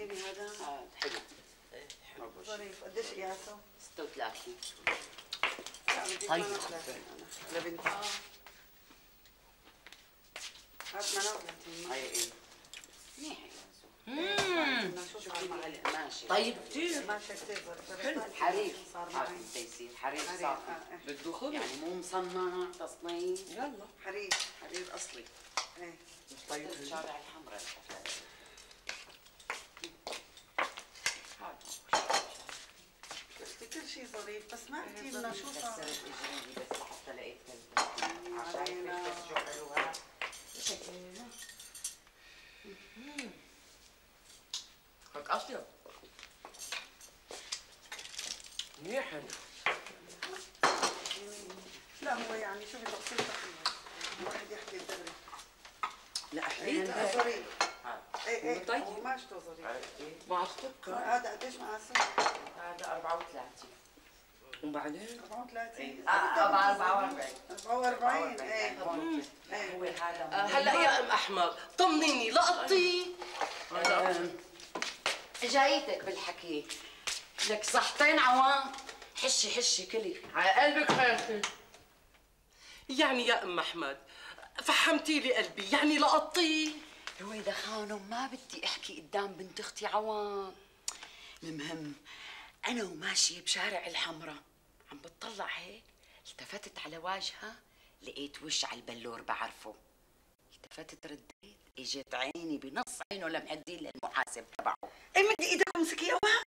جيبي هذا. حلو. ظريف. قديش قياسه؟ 36. لا بدي 38 انا لبنتي. هات 38. هاي ايه؟ منيح بدنا شو صار معي؟ ماشي. طيب كثير. ماشي كثير ظريف. حلو. حرير صار هذا معي. بده يصير حرير حرير، صافي. بده خبز يعني مو مصنع تصنيع. يلا حرير. حرير اصلي. ايه طيب الشارع الحمراء. كل شيء ظريف بس ما قلتي لنا شو صار. كسرت اجري بس لحتى لقيت كلمة. عشان بس شو حلوها. شكلها. هيك اصلا منيح حلو. لا هو يعني شو بدك تصير حلوة. الواحد يحكي الدغري. لا حليت ظريف. ايه ايه طيب. هو ماشته ظريف. مع السكر. هذا قديش مع السكر؟ هذا 34. وبعدين 34. 44. 44 ايه. هو هذا هلا يا ام احمد طمنيني لقطتي. جايتك بالحكي. لك صحتين عوام. حشي حشي كلي. على قلبك خيرتي. يعني يا ام احمد فحمتي لي قلبي، يعني لقطتي. رويدة خانم ما بدي احكي قدام بنت اختي عوام. المهم انا وماشيه بشارع الحمراء عم بتطلع هيك التفتت على واجهه لقيت وش على البلور بعرفه. التفتت رديت اجت عيني بنص عينه لمحدين للمحاسب تبعه. ايه مدي ايدك ومسكي اوعى.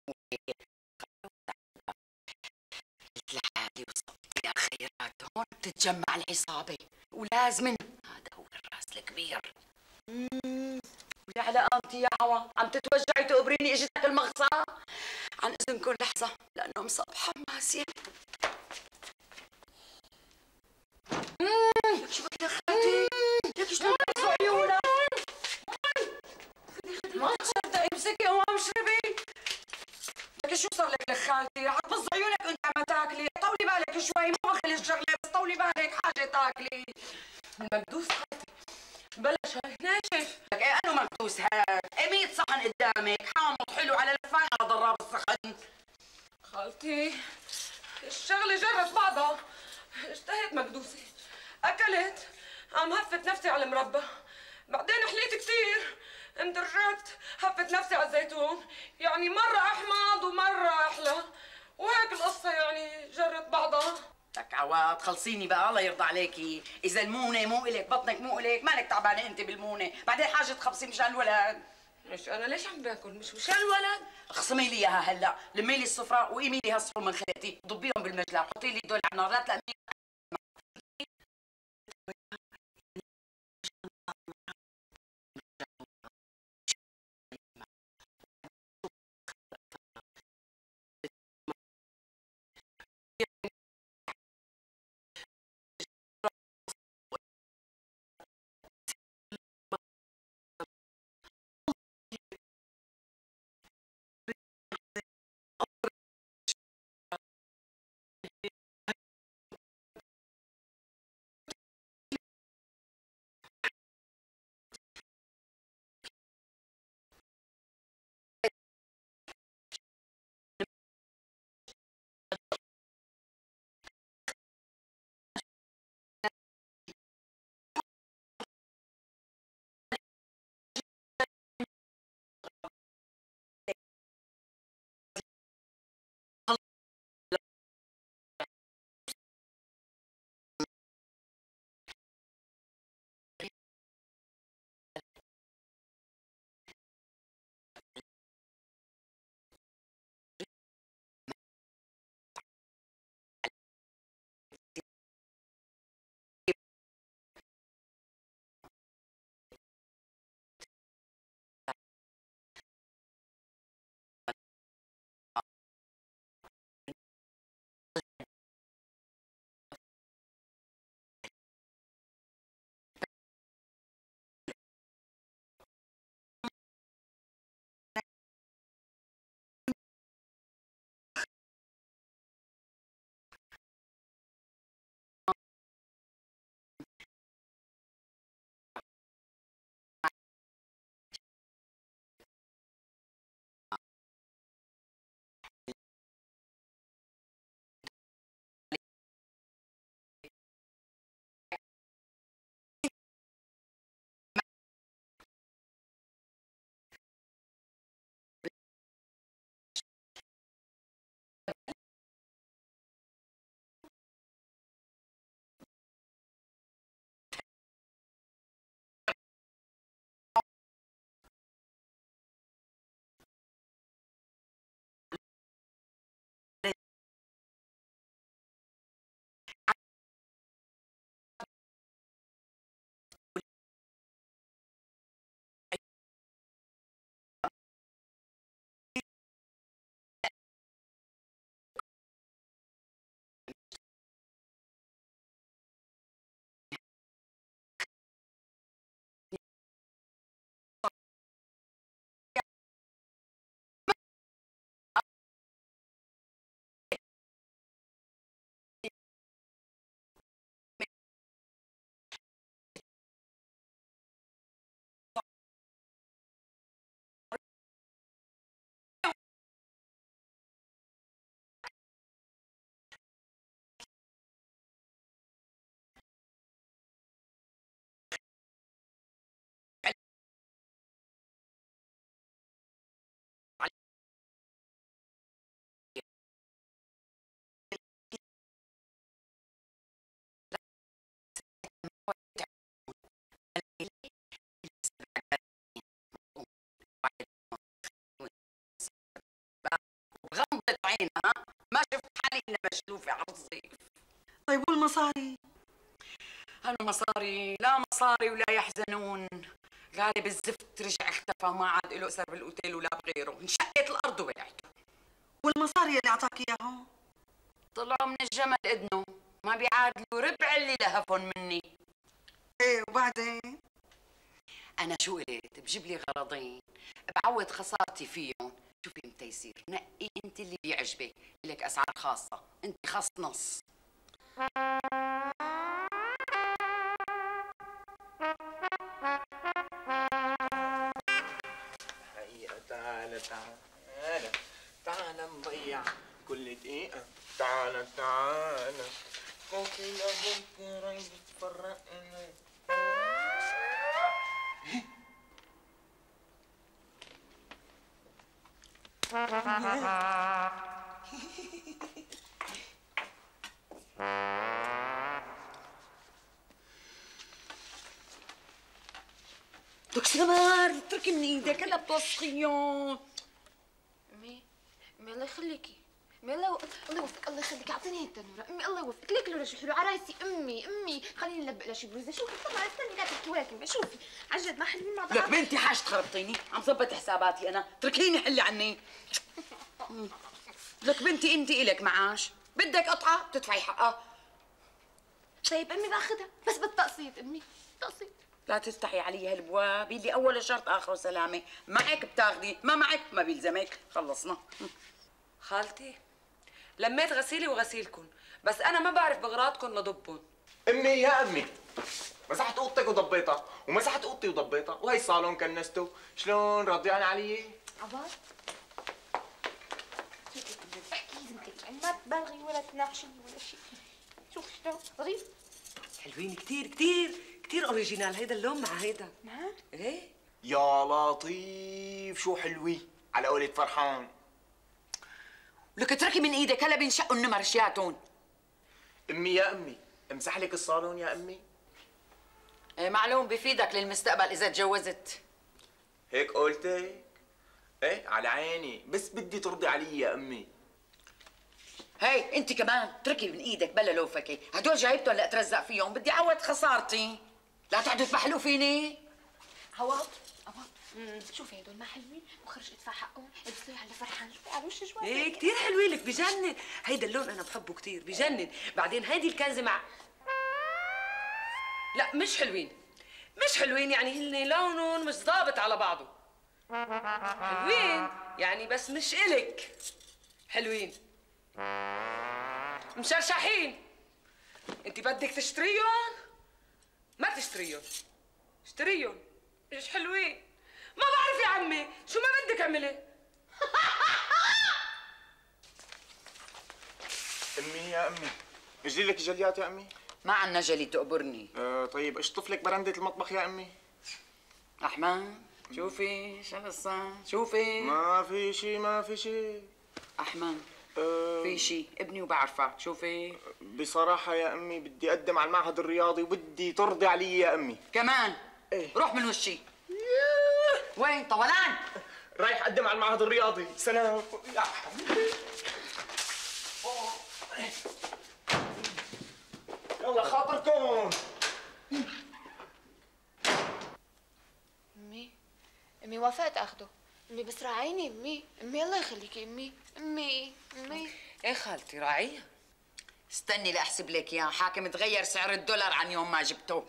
قلت لحالي وصلت يا خيرات هون بتتجمع العصابة ولازم هذا هو الراس الكبير. ويا على قامتي يا عوا عم تتوجعي تقبريني اجتك المغصى. عن اذنكم لحظة لأنه مصبحة ماسية. لك شو بدك خالتي؟ لك شلون بتقصوا عيونك؟ ما تصدقي امسكي قوام اشربي. لك شو صار لك خالتي؟ رح تبص عيونك وانت عم تاكلي، طولي بالك شوي مو بخل الشغله بس طولي بالك حاجه تاكلي. المكدوس خالتي بلش هاي ناشف. لك ايه انو مكدوس هاد؟ ايه 100 صحن قدامك حامض حلو على لفان على ضراب الصحن. خالتي الشغله جرت بعضها، اشتهيت مكدوسه اكلت، عم هفت نفسي على المربى، بعدين حليت كثير اندرجت هفت نفسي على الزيتون، يعني مرة أحمض ومرة أحلى، وهيك القصة يعني جرت بعضها. لك عواد خلصيني بقى الله يرضى عليكي، إذا المونة مو إلك بطنك مو إلك مالك تعبانة أنت بالمونة، بعدين حاجة تخبصي مشان الولد. مش أنا ليش عم باكل؟ مش مشان الولد؟ اخصمي لي إياها هلا، لمي لي الصفرة وقيمي لي هالصفر من خيتي، ضبيهم بالمجلة، حطي لي دول على النار لا تلقمي. وين ها؟ ما شفت حالي إلا مشلوفة على الصيف. طيب والمصاري؟ هالمصاري لا مصاري ولا يحزنون. غالب الزفت رجع اختفى وما عاد له اثر بالاوتيل ولا بغيره، انشقت الارض ووقعته. والمصاري اللي اعطاك اياهم؟ طلعوا من الجمل اذنه، ما بيعادلوا ربع اللي لهفهم مني. ايه وبعدين؟ انا شو قلت؟ بجيب لي غرضين بعوض خسارتي فيهم. شوفي ام تيسير، نقي انت اللي بيعجبك، لك اسعار خاصه، انت خاص نص. تعال تعال تعال نضيع كل دقيقة. تعال تعال بكرة بكرة يتفرقنا. لك سمر اتركي من ايدك هلا بتوسخيهم. امي الله يخليكي، امي الله يوفقك، الله يخليكي، اعطيني هي التنوره، امي الله يوفقك، ليك لورا شو حلو عرايسي، امي خليني نلبق لها شي بروزه، شوفي طلعي استني لا تحكي ولا كلمه، شوفي عن جد ما حلوين مع بعض. لك بنتي حاج تخربطيني، عم ظبط حساباتي انا، اتركيني حلي عني. لك بنتي انت الك معاش، بدك قطعه بتدفعي حقها. طيب امي باخذها بس بالتقسيط، امي تقسيط. لا تفتحي علي هالبواب، اللي اوله شرط اخره سلامه، معك بتاخدي، ما معك ما بيلزمك، خلصنا. خالتي لميت غسيلي وغسيلكن، بس انا ما بعرف بغراضكن لضبن. امي يا امي، مسحت اوضتك وضبيتها، ومسحت اوضتي وضبيتها، وهي الصالون كنسته. شلون راضيان علي؟ عباد احكي زمتك، يعني ما تبالغي ولا تناقشي ولا شيء. شوف شلون ظريف. حلوين كتير كتير كتير اوريجينال، هيدا اللون مع هيدا. نعم ايه يا لطيف شو حلوي على قولة فرحان. لك اتركي من ايدك هلا بينشقوا النمر شياتون. امي يا امي، امسح لك الصالون يا امي. ايه معلوم بفيدك للمستقبل اذا تجوزت. هيك قولتك؟ ايه على عيني، بس بدي ترضي علي يا امي. هي انت كمان اتركي من ايدك بلا لوفكي، هدول جايبتهم لاترزق فيهم، بدي اعوض خسارتي، لا تقعدوا تبحلوا فيني. عوض شوفي هدول ما حلوين، وخرج ادفع حقهم، البسوي على فرحان، شوفي على وش جوازك. ايه كتير حلوين لك، بجنن. هيدا اللون انا بحبه كتير، بجنن. بعدين هيدي الكنزه مع لا مش حلوين، مش حلوين، يعني هن لونهم مش ضابط على بعضه. حلوين يعني بس مش إلك. حلوين مشرشحين. انت بدك تشتريهم؟ ما تشتريهم، اشتريهم، مش حلوين. ما بعرف يا عمي، شو ما بدك اعملي. امي يا امي، اجري لك جليات يا امي. ما عنا جلي تقبرني. طيب اشطف لك برندة المطبخ يا امي. احمد شوفي شو القصة، شوفي. ما في شي ما في شي. احمد في شي ابني وبعرفك، شوفي. بصراحة يا امي بدي اقدم على المعهد الرياضي وبدي ترضي علي يا امي. كمان ايه روح من وشي. وين طولان؟ رايح اقدم على المعهد الرياضي. سلام يا حبيبي. يلا خاطركم. امي وافقت اخده، امي بس راعيني، امي الله يخليكي، امي ايه خالتي راعيها. استني لاحسب لك اياه، حاكم تغير سعر الدولار عن يوم ما جبته.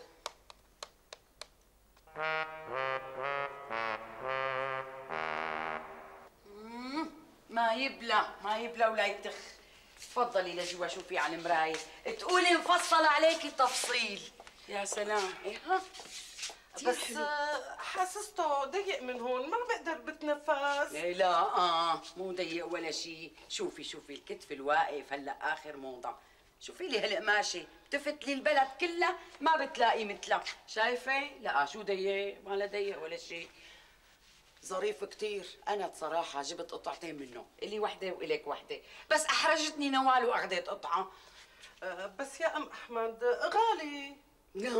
ما يبلى ولا يتخ. تفضلي لجوا شوفي على المرايه، تقولي مفصل عليكي تفصيل. يا سلام. ايه ها بس حاسسته ضيق من هون، ما بقدر بتنفس. إيه لا مو ضيق ولا شيء. شوفي الكتف الواقف هلا اخر موضه. شوفي لي هالقماشه بتفتلي البلد كلها ما بتلاقي مثلها، شايفه؟ لا شو ضيق، ما لا ضيق ولا شيء، ظريف كتير. انا بصراحه جبت قطعتين منه، الي وحده والك وحده، بس احرجتني نوال واخذت قطعه. بس يا ام احمد غالي. لا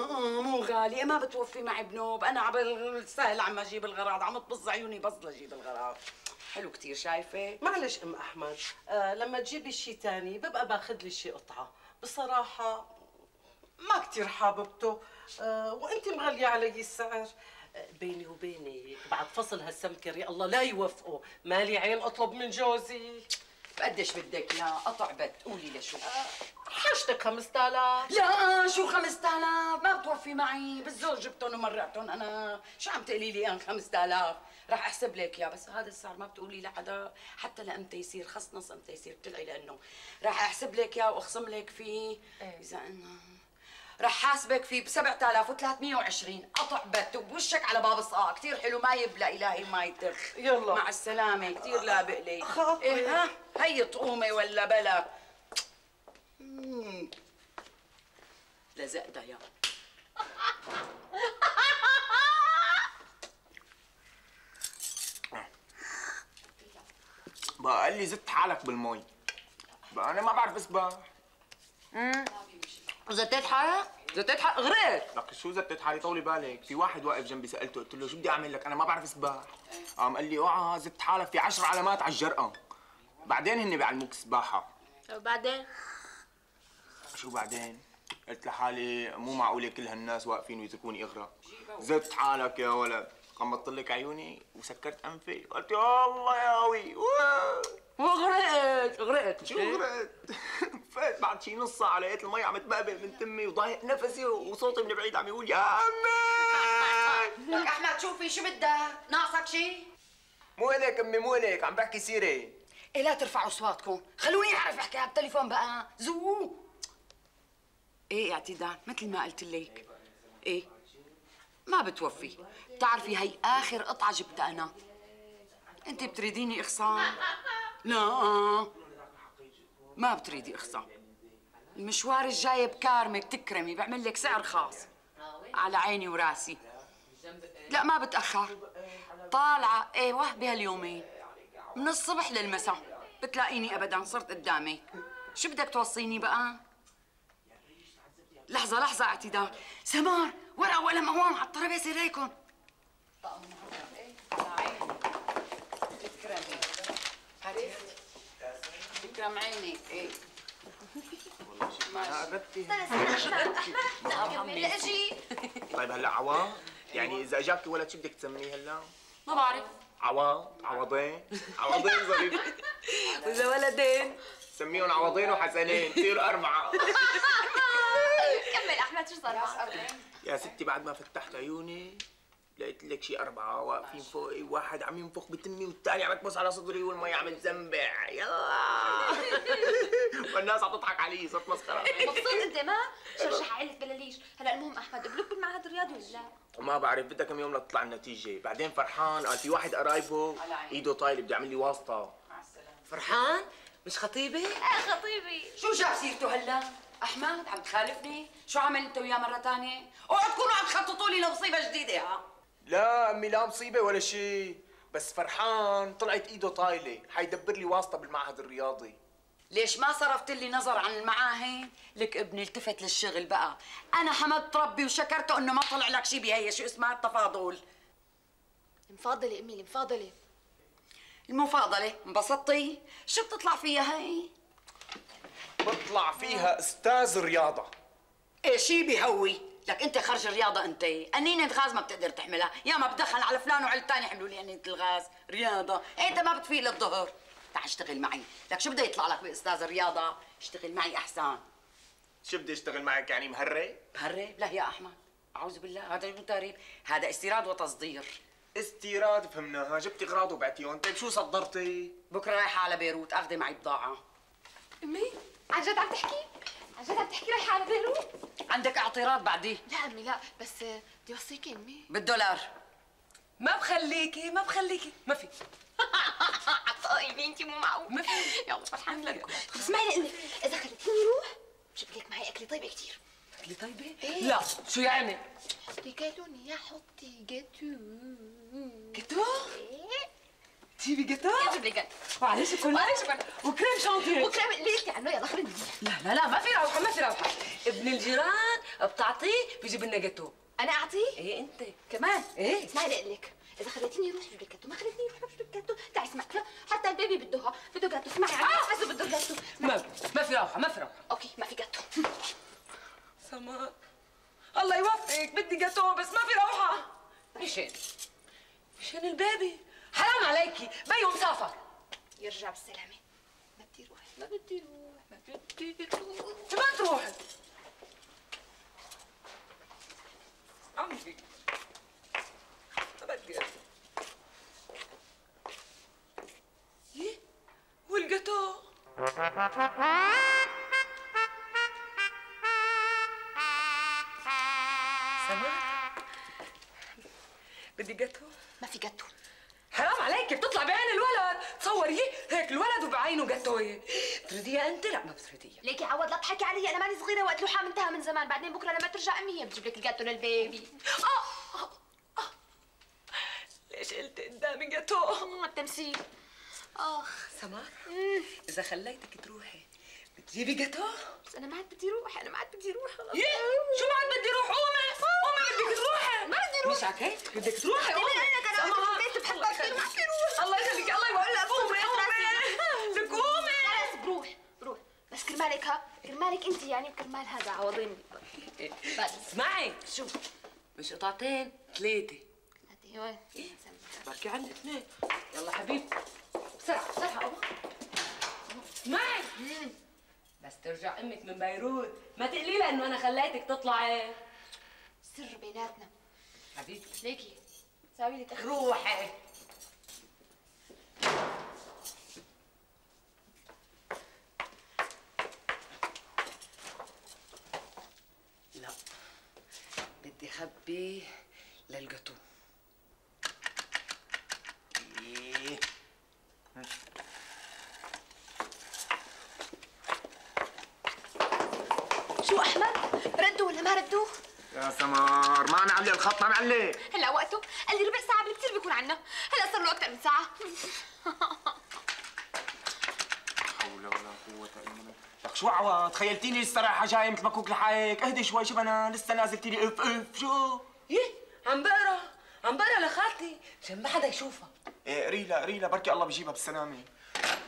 مو غالي، ما بتوفي معي بنوب، انا عبال السهل عم اجيب الغراض، عم تبص عيوني بص لاجيب الغراض. حلو كتير شايفه. معلش ام احمد، لما تجيبي شيء تاني ببقى باخذ لي شيء قطعه، بصراحه ما كتير حاببته، وانت مغليه علي السعر. بيني وبينك بعد فصل هالسمكر يا الله لا يوفقوا، مالي عين اطلب من جوزي. بقديش بدك يا قطع بت؟ قولي لي شو حاجتك 5000. لا شو 5000 ما بتوفي معي، بالزول جبتهم ومرقتهم انا، شو عم تقولي لي انا 5000؟ رح احسب لك اياه، بس هذا السعر ما بتقولي لحدا حتى لامتى يصير، خص نص امتى يصير بتلعي، لانه رح احسب لك اياه واخصم لك فيه اذا انه رح حاسبك فيه ب 7320 قطع بت وبوشك على باب الصقاع، كثير حلو ما يبلى الهي ما يتخ. يلا مع السلامه، كثير لابق لي. خاطري. إيه ها هي طقومه ولا بلا؟ لزقتها يا بقى قال لي زدت حالك بالمي. بقى انا ما بعرف اسبح. زتيت حالك؟ زتيت حالك غرقت. لك شو زتت حالي؟ طولي بالك، في واحد واقف جنبي سالته قلت له شو بدي اعمل لك؟ انا ما بعرف اسبح. قام قال لي اوعى زدت حالك، في 10 علامات على الجرأة. بعدين هن بيعلموك سباحة. وبعدين؟ شو بعدين؟ قلت لحالي مو معقولة كل هالناس واقفين ويتركوني اغرق. زدت حالك يا ولد. غمضت لك عيوني وسكرت انفي، قلت يا الله يا قوي. غرقت. شو غرقت؟ فات بعد شي نص ساعة لقيت المي عم تبقبق من تمي وضايق نفسي وصوتي من بعيد عم يقول يا امي. لك احمد شوفي شو بدك؟ ناقصك شي؟ مو الك امي مو الك، عم بحكي سيري. إيه لا ترفعوا اصواتكم، خلوني اعرف احكي على التليفون بقى، زو. ايه اعتدال مثل ما قلت لك. ايه ما بتوفي، بتعرفي هي اخر قطعة جبتها انا. انت بتريديني اخصام؟ لا ما بتريدي اخصام. المشوار الجاي بكارمك تكرمي، بعمل لك سعر خاص على عيني وراسي. لا ما بتأخر، طالعة ايوه بهاليومين من الصبح للمساء بتلاقيني ابدا صرت قدامك. شو بدك توصيني بقى؟ لحظة اعتدال، سمار ورقة وقلم هون على الطرابيزة ريكن. على عيني تكرمي، هاتي تكرم عيني. ايه والله شي ما قربتي. بدي اجي. طيب هلا عوض؟ يعني اذا اجاكي ولد شو بدك تسميه هلا؟ ما بعرف. عوض، عوضين، عوضين ظريف. واذا ولدين سميهم عوضين وحسنين، تصيروا 4. كمل احمد شو صار معك؟ يا ستي بعد ما فتحت عيوني لقيت لك شي 4 واقفين فوقي، واحد عم ينفخ بتمي والثاني عم يكبس على صدري والمي عم تزنبع. يلا والناس عم تضحك علي، صرت مسخره. مبسوط انت ما؟ شرشح عيلة بلاليش، هلا المهم احمد قبلوك بالمعهد الرياضي ولا لا؟ ما بعرف، بدها كم يوم لتطلع النتيجة، بعدين فرحان قال في واحد قرايبه ايده طايله بده يعمل لي واسطة. فرحان؟ مش خطيبي؟ خطيبي. شو جاب سيرته هلا؟ احمد عم تخالفني؟ شو عمل انت وياه مرة ثانية؟ اوعوا تكونوا عم تخططوا لي لمصيبة جديدة ها؟ لا امي لا مصيبة ولا شيء، بس فرحان طلعت ايده طايلة، حيدبر لي واسطة بالمعهد الرياضي. ليش ما صرفت لي نظر عن المعاهد؟ لك ابني التفت للشغل بقى، انا حمدت ربي وشكرته انه ما طلع لك شيء بهي شو اسمها التفاضل. المفاضلة امي المفاضلة. المفاضلة انبسطتي؟ شو بتطلع فيها هي؟ بطلع فيها استاذ رياضة. ايه شي بيهوي، لك انت خرج الرياضة انت، قنينة غاز ما بتقدر تحملها، يا ما بدخل على فلان وعلى تاني حملوا لي قنينة الغاز، رياضة، إيه انت ما بتفيق للظهر، تعال اشتغل معي، لك شو بده يطلع لك باستاذ الرياضة؟ اشتغل معي احسن. شو بدي اشتغل معك يعني مهرب؟ مهرب؟ لا يا احمد، اعوذ بالله، هذا مو تهريب، هذا استيراد وتصدير. استيراد فهمناها، جبتي اغراض وبعتيهم، طيب شو صدرتي؟ بكره رايحة على بيروت اخذي معي بضاعة. امي عن جد عم تحكي؟ عن جد عم تحكي رايحة على بيروت؟ عندك اعتراض بعديه؟ لا امي لا، بس بدي اوصيكي امي. بالدولار. ما بخليكي ما في. طيب انت مو معقول. ما في. يلا فرحان لك. اسمعي لي اذا خليتيني روح بجيب لك معي اكله طيبه كثير. اكلي طيبه؟ إيه؟ لا شو يعني؟ حطي كالوني يا حطي جاتو. جاتو؟ ايه تجيبي جاتو؟ جيب لي جاتو. معلش وكريم شانتيه. وكريم اللي قلتي عنه يلا خلينا. لا ما في روحه ما في روحه. ابن الجيران بتعطيه بيجيب لنا جاتو. انا اعطيه؟ ايه انت كمان. ايه؟ اسمعي لي اقول لك اذا خليتيني اروح بجيب لك جاتو، ما خليتيني اروح بجيب لك جاتو. تعي اسمعي، حتى البيبي بده جاتو. اسمعي عزيز بده جاتو. ما في روحه، ما في روحه. اوكي ما في جاتو. سمار الله يوفقك، بدي جاتو بس ما في روحه. مشان البيبي. حرام عليكي، بيو مسافر. يرجع بالسلامه. ما بدي روح، ما بدي روح، ما بدي روح. ما تروحي عمي، ما بدي ايه والجاتو. سمار بدي جاتو. ما في جاتو. حرام عليكي، بتطلع بعين الولد. تصوري هيك الولد وبعينه جاتوه. بتريديها انت؟ لا ما بتريديها. ليكي عوض لا تضحكي علي، انا ماني صغيره وقت لوحه منتهى من زمان. بعدين بكره لما ترجع امي هي بتجيب لك الجاتو للبيبي. ليش قلت قدامي جاتو؟ التمثيل. سمار اذا خليتك تروحي بتجيبي جاتو؟ بس انا ما عاد بدي روح، انا ما عاد بدي روح خلص. شو ما عاد بدي روح؟ قومي بدك تروحي. ما بدي روح. مش عكيت بدك تروحي. قومي انا كان عندي في البيت بحبها كثير وما بدي روح. الله يخليك، الله يقول لك قومي بدك قومي. خلص بروح بس كرمالك كرمالك انت يعني وكرمال هذا عوضيني. بس اسمعي شو مش قطعتين 3 وين؟ بركي عندك 2. يلا حبيبي بسرعة قوم. اسمعي بس ترجع امك من بيروت ما تقلي لها انه انا خليتك تطلعي. سر بيناتنا حبيبتي. ليكي ساوي لي تخفيف. روحي. لا بدي خبي للجاتو. شو احمد؟ ردوا ولا ما ردوا؟ يا سمار ما معلق الخط، ما معلق. هلا وقته؟ قال لي ربع ساعة بالكثير بيكون عنا، هلا صار له أكثر من ساعة. حول ولا قوة إلا بالله. لك شو عوض؟ تخيلتيني الصراحة جاي مثل مكوك لحالك، اهدي شوي. شو انا لسه نازلتي لي اف شو؟ ايه عم بقرا لخالتي مشان ما حدا يشوفها. ايه قريلا بركي الله بيجيبها بالسلامة.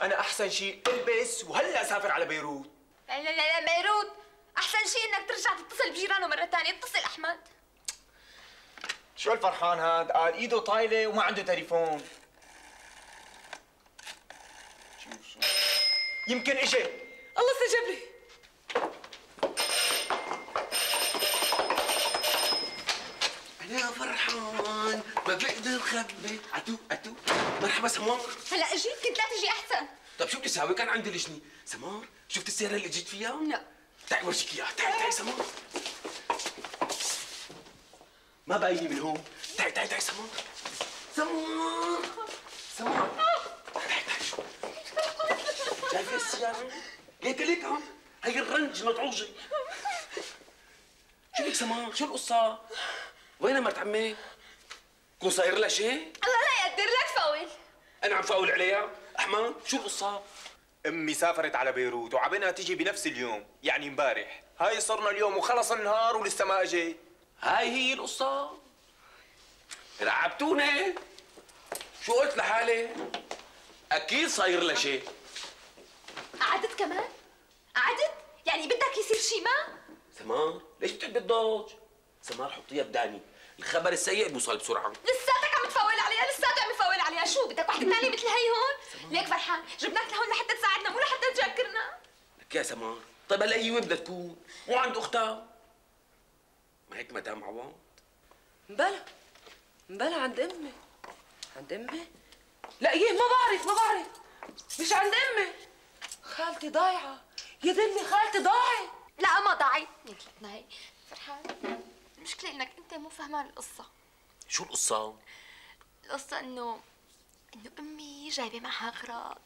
أنا أحسن شيء البس وهلا أسافر على بيروت. لا بيروت، أحسن شيء إنك ترجع تتصل بجيرانه مرة ثانية. اتصل أحمد. شو الفرحان هاد؟ قال ايده طايلة وما عنده تليفون. شو يمكن اجى. الله استجاب لي. أنا فرحان ما بقدر خبي. عتو مرحبا سمار. هلا اجيت، كنت لا تجي أحسن. طيب شو بدي اساوي؟ كان عندي لجنة. سمار شفت السيارة اللي جيت فيها؟ لا. تعي ورجيك اياها. تعي سمار. ما باينة من هون. تعي سمار. تعي شايفة السيارة؟ ليك عم هي الرنج مطعوجة. شو بك سمار؟ شو القصة؟ وين مرت عمي؟ كون صاير لها شيء؟ الله لا يقدر لك فاول. أنا عم فاول عليها؟ أحمد شو القصة؟ امي سافرت على بيروت وعبنا تيجي بنفس اليوم، يعني امبارح. هاي صرنا اليوم وخلص النهار ولسه ما اجيت. هاي هي القصة؟ رعبتوني؟ شو قلت لحالي؟ أكيد صاير لها شيء. قعدت كمان؟ قعدت؟ يعني بدك يصير شيء ما؟ سمار ليش بتحبي الضوج؟ سمار حطيها بداني، الخبر السيء بيوصل بسرعة. لساتك عم تفاول عليها، لساتك عم تفاول عليها. شو بدك واحدة ثانية مثل هي هون؟ ليك فرحان جبناك لهون لحتى تساعدنا مو لحتى تجاكرنا. لك يا سمار، طيب هلا هي وين بدها تكون؟ مو عند أختها؟ ما هيك مدام عوض؟ مبلا عند امي. عند امي؟ لا ايه ما بعرف مش عند امي. خالتي ضايعة يا دمي، خالتي ضاعت. لا ما ضاعت. مثلتنا هي فرحان. المشكلة انك انت مو فهمان القصة. شو القصة؟ القصة انه امي جايبة معها اغراض.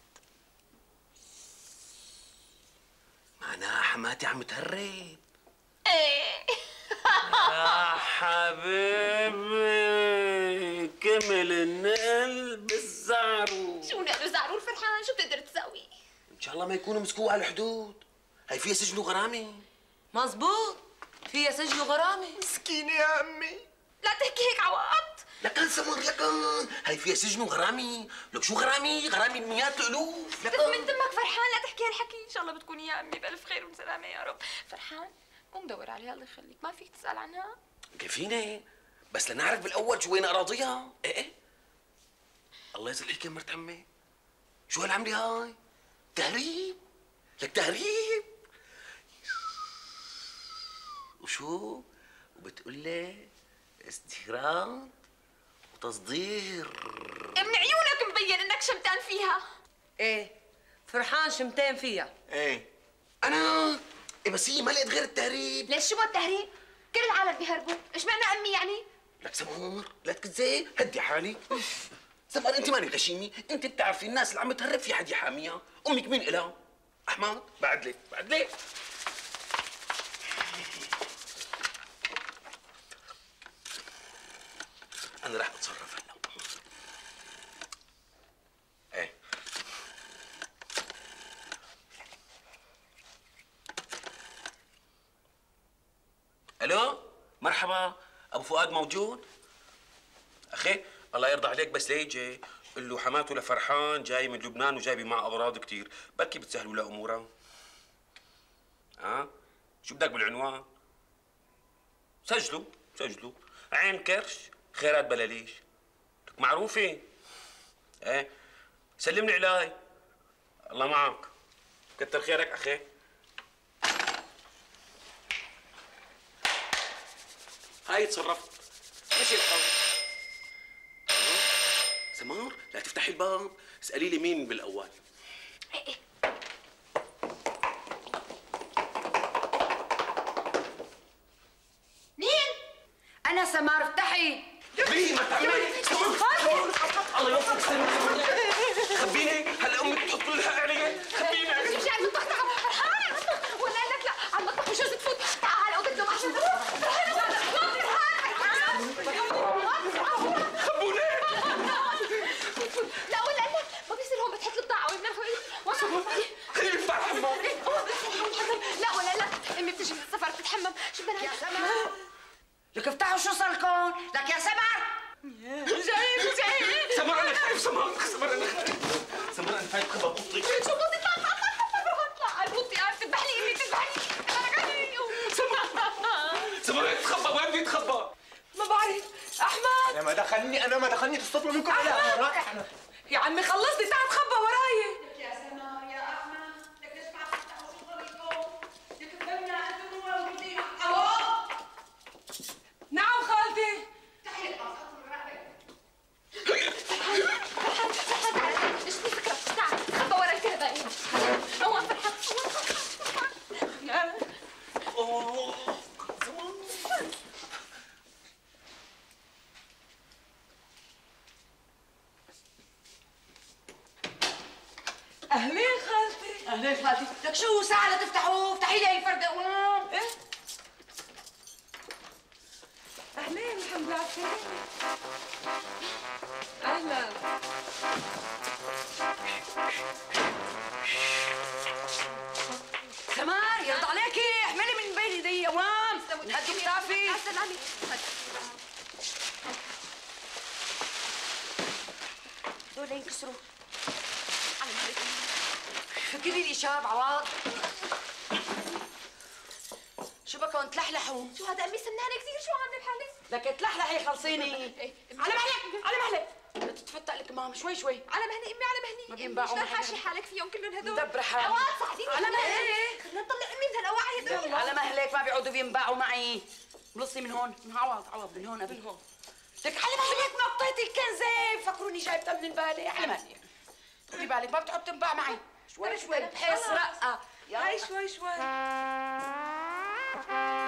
معناها حماتي عم تهرب. ايه يا حبيبي كمل النقل بالزعرور. شو نقلوا زعرور فرحان؟ شو بتقدر تسوي؟ ان شاء الله ما يكونوا مسكوه على الحدود. هي فيها سجن وغرامه. مزبوط فيها سجن وغرامة. مسكينة يا امي. لا تحكي هيك عوض. لكن سمر لكن هاي فيها سجن وغرامي. لك شو غرامي؟ غرامي بمئات الالوف. بس من دمك فرحان لا تحكي هالحكي. ان شاء الله بتكوني يا امي بالف خير وسلامه يا رب. فرحان مو مدور عليها الله يخليك. ما فيك تسال عنها؟ كيفيني بس لنعرف بالاول شو وين اراضيها. ايه الله يصلحك يا مرت عمي. شو هالعملة هاي؟ تهريب؟ لك تهريب؟ وشو؟ وبتقول لي استيراد وتصدير. من عيونك مبين انك شمتان فيها. ايه فرحان شمتين فيها. ايه انا إيه بس هي ما لقيت غير التهريب. ليش شو التهريب؟ كل العالم بيهربوا، ايش معنى امي يعني؟ لك سمر لا تكذب، هدي حالك. سمر انت ماني غشيمي، انت بتعرفي الناس اللي عم تهرب في حد يحاميها. امك مين إلها؟ احمد بعد لك بعد لك. انا رح اتصرف هلا. ايه الو مرحبا ابو فؤاد موجود؟ اخي الله يرضى عليك بس ليجي قل له حماته لفرحان جاي من لبنان وجايبه معه اغراض كثير، بركي بتسهلوا له امورها. شو بدك بالعنوان؟ سجلوا عين كرش خيرات بلاليش. لك معروفه. ايه سلمني علي. الله معك. كتر خيرك اخي. هاي تصرفت. مشي الحال. سمار لا تفتحي الباب، اسألي لي مين بالاول. مين؟ أنا سمار افتحي. مين ما تعملي؟ سمار الله يوفقك سمار. خبيني هلا امك تقتل الحق علي. خبيني. مش عم تطلع فرحان ولا لك لا على المطبخ وشو تفوت. تعال اوضه لهم عشان خبوني. لا ولا لك ما بيصير هون بتحط البضاعه وانا خليني افتح الحمام. لا ولا لا امي بتجي من السفر بتتحمم. شو بدنا يا سمر لك افتحوا شو صارلكم؟ لك يا سمر جاي سمر انا خايف. سمر انا خايف. سمر انا خايف خبى بوطي. شو بوطي طلع على البوطي قاعد تذبحني امي تذبحني. سمر تخبى وين بدي اتخبى؟ ما بعرف. احمد انا ما دخلني تصطفلوا منكم على رائحنا. يا عمي خلصني تعال تخبى وراي. لك يا سمر يا احمد لك ليش ما عم تفتحوا شو صارلكم؟ لك الدنيا انتم موجودين. الو نعم خالتي. افتحي الباب حطوا الرقبه. ايش في فكره؟ تعال تخبى ورا الكهربائي. هون فرحان اهلين خالتي. اهلين خالتي. لك شو ساعة لتفتحوا؟ افتحي لي هي فردة. ايه اهلين الحمد لله على السلامة. اهلا. سمار يرضى عليكي احملي من بين ايدي اوام. هدوا كتافي. سلامي. دول ينكسروا. فكري لي شاب عواض. شو بكون تلحلحوا؟ شو هذا امي سمنانه كثير. شو عامله بحالك؟ لك تلحلحي خلصيني. على مهلك على مهلك. تتفتق لك مام شوي شوي. على مهلي امي على مهلي. ما بينباعوا شلون محل. حاشي حالك فيهم كلهم هدول؟ مدبرة حالي. عواد ساعديني على مهلك. خلينا نطلع امي من هالقواعي هدول. على مهلك ما بيعودوا بينباعوا معي. بلصي من هون. من عوض من هون قبل هون. لك على مهلك ما قطيتي الكنزه. فكروني جايبتها من البالة. على مهلك. خدي بالك ما بتحب تنباع معي. شوي شوي بحس رقة. هاي شوي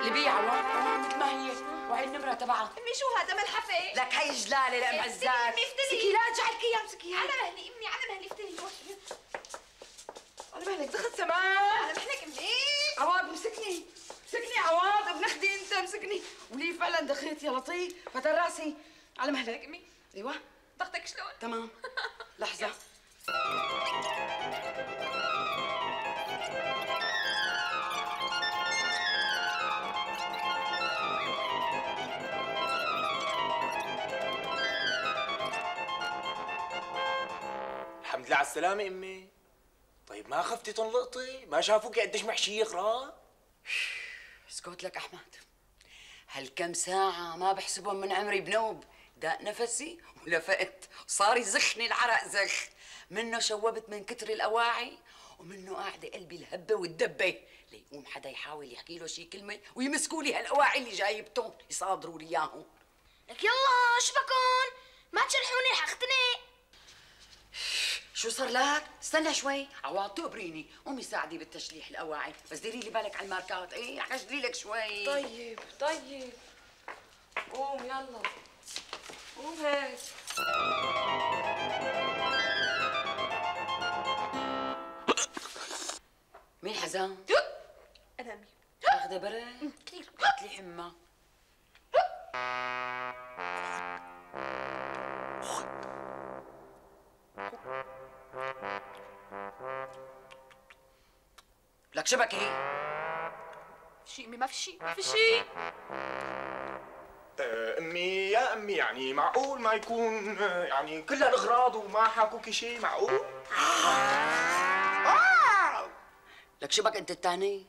اللي بيع عوام مثل ما هي وهي النمرة تبعها. امي شو هذا ملحفه؟ لك هي جلالة لأم عزات. امي افتلي. امسكي لا ارجعلك اياها امسكيها. على مهلي امي على مهلي افتلي. على مهلك دخل سماء. على مهلك امي. عواد مسكني عواد ابن اختي انت مسكني. ولي فعلا دخيت يا لطيف فتر راسي. على مهلك امي ايوه ضغطك شلون؟ تمام. لحظة على السلامة امي. طيب ما خفتي تنلقطي؟ ما شافوكي قديش محشية غراب؟ اسكت لك احمد، هالكم ساعة ما بحسبهم من عمري بنوب، داق نفسي ولفقت، صار يزخني العرق زخ، منه شوبت من كتر الأواعي ومنه قاعدة قلبي الهبة والدبة، ليقوم حدا يحاول يحكي له شي كلمة ويمسكوا لي هالأواعي اللي جايبتهم يصادروا لي إياهم. لك يلا شو بكون؟ ما تشرحوني رح اختنق. شو صار لك؟ استنى شوي، عوض تقبريني، قومي ساعدي بالتشليح الأواعي، بس ديري لي بالك على الماركات، ايه رح اشتري لك شوي. طيب طيب قوم يلا قوم هيك. مين حزام؟ انا امي. اخذ برد؟ كثير. هات لي حمى. لك شبكي؟ في امي، ما في شيء، ما في شيء. امي يا امي، يعني معقول ما يكون يعني كل هالاغراض وما حاكوكي شيء؟ معقول؟ لك شبك انت الثاني؟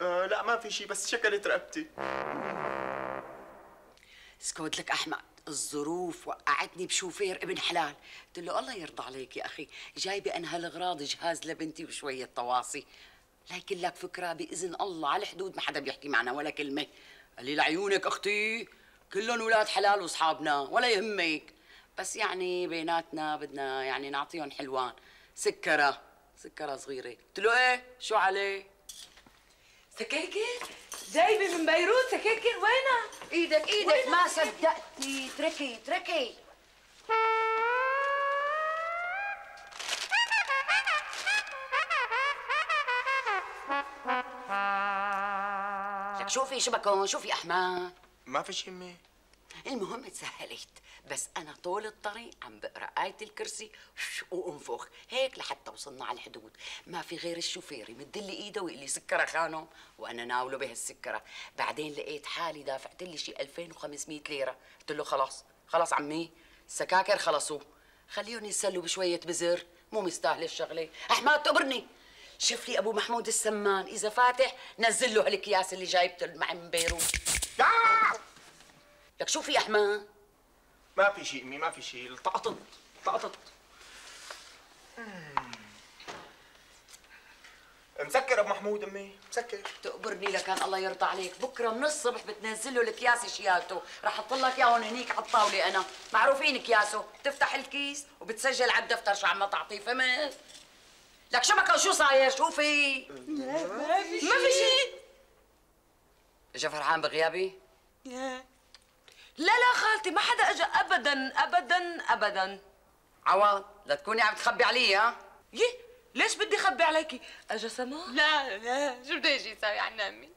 لا ما في شيء، بس شكلت رقبتي. اسكت لك احمد، الظروف وقعتني بشوفير ابن حلال، قلت له الله يرضى عليك يا اخي، جايبه انا هالاغراض جهاز لبنتي وشويه طواصي، لكن لك فكره باذن الله على الحدود ما حدا بيحكي معنا ولا كلمه. قال لي لعيونك اختي كلهم ولاد حلال واصحابنا ولا يهمك، بس يعني بيناتنا بدنا يعني نعطيهم حلوان، سكره صغيره. قلت له ايه شو عليه؟ سكاكر جايبه من بيروت سكاكر، وينها؟ ايدك ما صدقتي، تركي لك شوفي شبكون، شوفي احمد. ما في شيء امي. المهم تسهلت، بس انا طول الطريق عم بقرا آية الكرسي وانفخ هيك لحتى وصلنا على الحدود، ما في غير الشوفير يمد لي ايده ويقول لي سكره خانم وانا ناوله بهالسكره، بعدين لقيت حالي دافعت لي شي 2500 ليره، قلت له خلاص عمي السكاكر خلصوا، خليهم يتسلوا بشويه بزر، مو مستاهله الشغله. احمد تقبرني، شوف لي ابو محمود السمان اذا فاتح نزل له هالاكياس اللي جايبته معي من بيروت. لك شوفي يا احمد. ما في شيء امي، ما في شيء، طقطت. مسكر ابو محمود امي، مسكر. تقبرني لكان الله يرضى عليك، بكره من الصبح بتنزل له الاكياس شيالته، رح احط لك اياهم هنيك على الطاوله، انا معروفين اكياسه، بتفتح الكيس وبتسجل على الدفتر شو عم تعطيه، فهمت؟ لك شبكه وشو صاير؟ شوفي ما في شيء. اجا فرحان بغيابي؟ لا خالتي ما حدا اجى ابدا. عوض لا تكوني عم تخبي علي، ها؟ ليش بدي اخبي عليكي؟ اجا سما؟ لا شو بده يجي يساوي عنا امي؟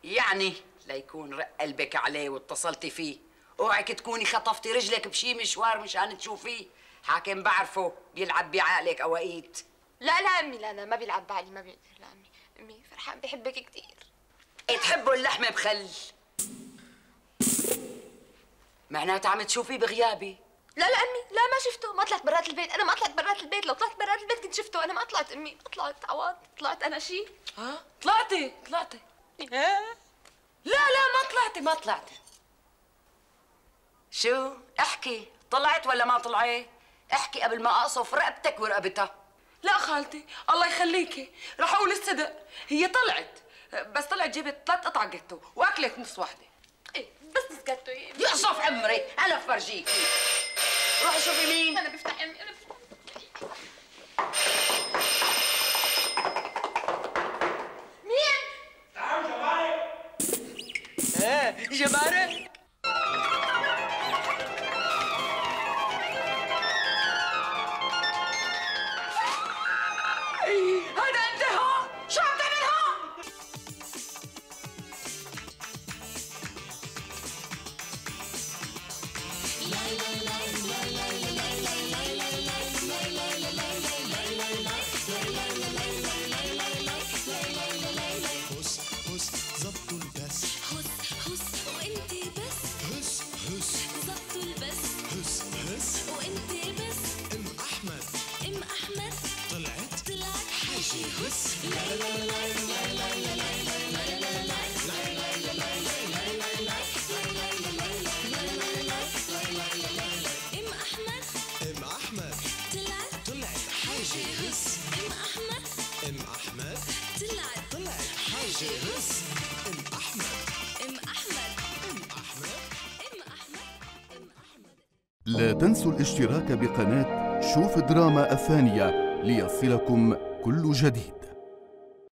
يعني ليكون رق قلبك عليه واتصلتي فيه، اوعك تكوني خطفتي رجلك بشي مشوار مشان تشوفيه، حاكم بعرفه بيلعب بعقلك اوقيت. لا امي، لا ما بيلعب بعقلي، ما بيقدر. لا امي فرحان بحبك كثير. تحبوا اللحمه بخل، معناتها عم تشوفيه بغيابي. لا امي، لا ما شفته، ما طلعت برات البيت، انا ما طلعت برات البيت، لو طلعت برات البيت كنت شفته، انا ما طلعت امي، ما طلعت عوض، طلعت انا شيء. ها؟ طلعتي لا ما طلعتي. شو؟ احكي، طلعت ولا ما طلعت؟ احكي قبل ما اقصف رقبتك ورقبتها. لا خالتي الله يخليكي، رح اقول الصدق، هي طلعت، بس طلعت جبت 3 قطع جاتو واكلت نص وحده. ايه بس نسكتوا ايه؟ يحصف عمري، انا بفرجيكي. روحي شوفي مين. انا بفتح امي، انا بفتح. مين؟ تعالوا جمارك. جمارك؟ هذا انت هون، شو عم تعمل هون؟ هس زبطوا البس، هس وانت بس، هس زبطوا البس، هس وانت بس، ام احمد ام احمد دي جي هس ام احمد ام احمد ام احمد ام احمد ام احمد. لا تنسوا الاشتراك بقناة شوف دراما الثانية ليصلكم كل جديد.